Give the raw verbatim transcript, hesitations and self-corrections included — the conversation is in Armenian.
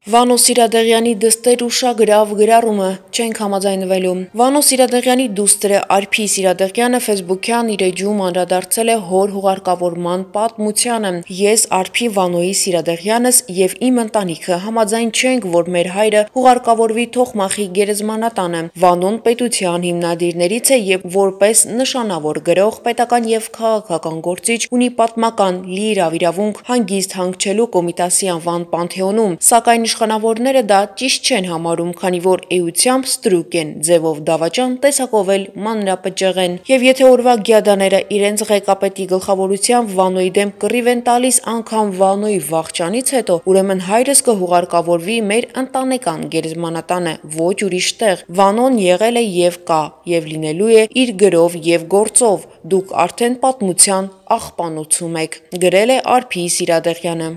Վանո Սիրադեղյանի դստեր ու շագրավ գրառումը չենք համաձայնվելու։ Վանո Սիրադեղյանի դուստրը Արփի Սիրադեղյանը ֆեյսբուքյան իր էջում անդրադարձել է հոր հուղարկավորման պատմությանը։ Ես Արփի Վանոյի Սիրադեղյանս եւ իմ ընտանիքը համաձայն չենք, որ մեր հայրը հուղարկավորվի Թոխմախի գերեզմանատանը։ Վանոն պետության հիմնադիրներից է եւ որպես նշանավոր գրող, պետական եւ քաղաքական գործիչ ունի պատմական լիիրավ իրավունք հանգիստ հանգչելու Կոմիտասի անվան պանթեոնում, սակայն իշխանավորները դա ճիշտ չեն համարում, քանի որ էությամբ ստրուկ են, ձևով դավաճան, տեսակով էլ մանրապճեղ են։ Եվ եթե օրվա գյադաները իրենց ղեկապետի գլխավորությամբ Վանոյի դեմ կռիվ են տալիս անգամ Վանոյի վախճանից հետո, ուրեմն հայրս կհուղարկավորվի մեր ընտանեկան գերեզմանատանը, ոչ ուրիշ տեղ։ Վանոն եղել է եւ կա, եւ լինելու է իր գրով եւ գործով։ Դուք արդեն պատմության աղբանոցում եք, գրել է Արփի Սիրադեղյանը։